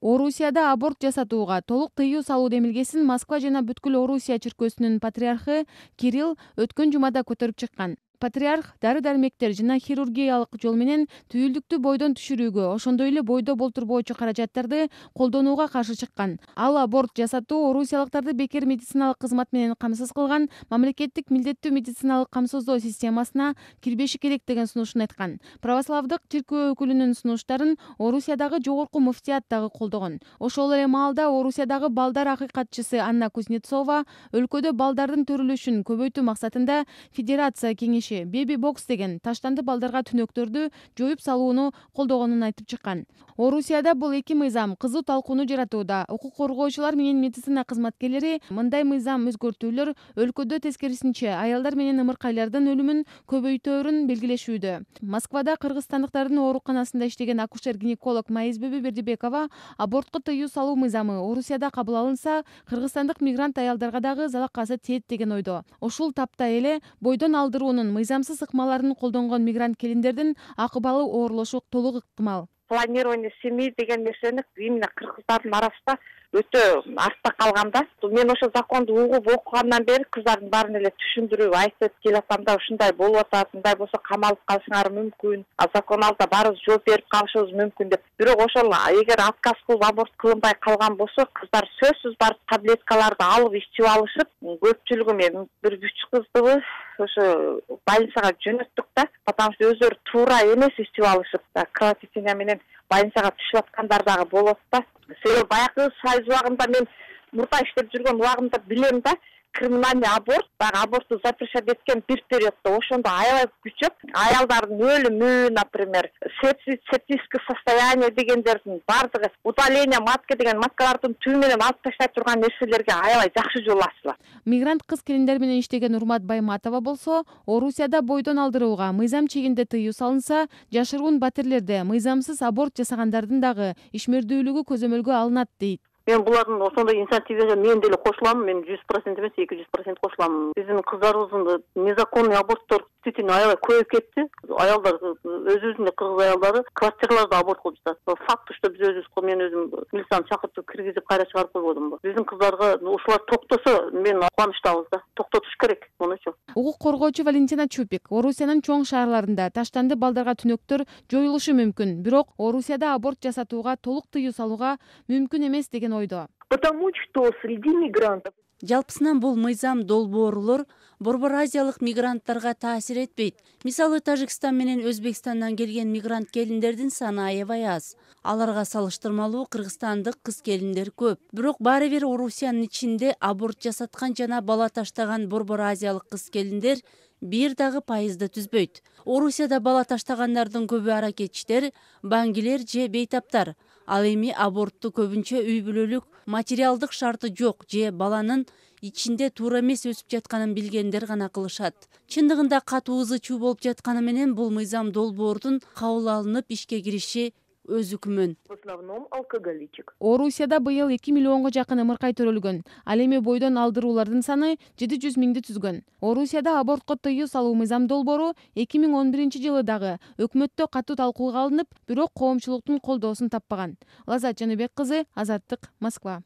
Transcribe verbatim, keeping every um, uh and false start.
Орусияда аборт жасатууга толук тыюу салуу демилгесин Москва жана бүткүл Орусия чиркөөсүнүн патриархы Кирилл өткөн жумада көтөрүп чыккан. Патриарх дары-дармектер жана хирургиялык жол менен түйүлдүктү бойдон түшүрүүгө, ошондой эле бойдо болтурбоочу каражаттарды колдонууга каршы чыккан. Ал аборт жасатуу орусиялыктарды бекер медициналык кызмат менен камсыз кылган мамлекеттик милдеттүү медициналык камсыздоо системасына кирбеши керек деген сунушун айткан. Православдык чиркөө өкүлүнүн сунуштарын Орусиядагы жогорку муфтият дагы колдогон. Ошол эле маалда Орусиядагы балдар акыйкатчысы Анна Кузнецова өлкөдө балдардын төрүлүшүн көбөйтүү максатында Федерация кеңеши Baby Box деген таштанды балдарга түнөктөрдү жоюп салууну колдогонун айтып чыккан. Орусияда бул эки мыйзам кызуу талкууну жаратууда. Укук коргоочулар менен медицина кызматкерлери мындай мыйзам өзгөртүүлөр өлкөдө тескерисинче аялдар менен ымыркайлардын өлүмүн көбөйтөөрүн белгилешүүдө. Москвада кыргызстандыктардын ооруканасында иштеген акушер-гинеколог Маизбеби Бердибекова абортко тыюу салуу мыйзамы Орусияда кабыл алынса, кыргызстандык мигрант аялдарга дагы залакасы тиет деген ойдо. Ушул тапта эле бойдон алдыруунун мыйзамсыз ыкмаларын колдонгон мигрант келиндердин акыбалы оорулошу толук ыктымал. Планирование семьи деген нерсени именно кыргыздардын арасында өтө артта калган да. Мен ошо законду угуп окугандан бери кыздардын баарын эле түшүндүрүп айтып келатам да, ушундай болуп атат, мындай болсо камалып калышыңар мүмкүн, а закон алдында баарыбыз жооп берип калышыбыз мүмкүн деп. Бирок ошол эгер отказ кылып аборт кылынбай калган болсо, кыздар сөзсүз барып таблеткаларды алып ичип алышып, көпчүлүгү мен бир үч кыздыбы ошо больницага жөнөттүк да, потому что өздөрү туура эмес ичип алышып, кровотечение менен больницага түшүп аткандар дагы болот да. Себеби баягы союз убагында мен мурда иштеп жүргөн убагымда билем да, криминальный аборт, баягы аборту запрещать эткен бир периоддо ошондо аябай күчөп, аялдардын өлүмү, например, септическое состояние дегендердин бардыгы, удаление матки деген маткалардын түбү менен алып таштай турган нерселерге аябай жакшы жол ачылат. Мигрант кыз келиндер менен иштеген Урмат Байматова болсо, Орусияда бойдон алдырууга мыйзам чегинде тыюу салынса, жашыруун батирлерде мыйзамсыз аборт жасагандардын дагы ишмердүүлүгү көзөмөлгө алынат дейт. Мен булардын ошондой инициативага мен деле кошулам, мен жүз процент эмес, эки жүз процент кошулам. Биздин кыздарыбыздын незаконный аборттор действительно аябай көбөйүп кетти. Аялдар, өзүбүздүн кыргыз аялдары квартираларда аборт кылып жатат. Факт, что биз өзүбүз, мен өзүм милицияны чакыртып киргизип кайра чыгарып койбодум. Биздин кыздарга ушулар токтосо, мен кубанычтабыз да. Токтотуш керек мунучу. Укук коргоочу Валентина Чупик, Орусиянын чоң шаарларында таштанды балдарга түнөктөр жоюлушу мүмкүн, бирок Орусияда аборт жасатууга толук тыюу салууга мүмкүн эмес деген ойдо. Потому что среди мигрантов Жалпысынан бул мыйзам долбоорлор Борбор Азиялык мигранттарга таасир этпейт. Мисалы, Тажикстан менен Өзбекстандан келген мигрант келиндердин саны аябай аз. Аларга салыштырмалуу кыргызстандык кыз келиндер көп. Бирок баары бир Орусиянын ичинде аборт жасаткан жана бала таштаган Борбор Азиялык кыз келиндер бир дагы пайызды түзбөйт. Орусияда бала таштагандардын көбү аракетчиттер, баңгилер же бейтаптар. Ал эми абортту көбүнчө үй бүлөлүк материалдык шарты жок же баланын ичинде туура эмес өсүп жатканын билгендер гана кылышат. Чындыгында катуу ызы чуу болуп жатканы менен бул мыйзам долбоордун кабыл алынып ишке кириши өз күмөн. в основном алкоголичек. Орусияда быйыл эки миллионго жакын ымыркай төрөлгөн. Ал эми бойдон алдыруулардын саны жети жүз миңди түзгөн. Орусияда абортко тыюу салуу мыйзам долбоору эки миң он биринчи жылы дагы өкмөттө катуу талкууга алынып, бирок коомчулуктун колдоосун таппаган. Лаззат Жаныбек кызы, Азаттык, Москва.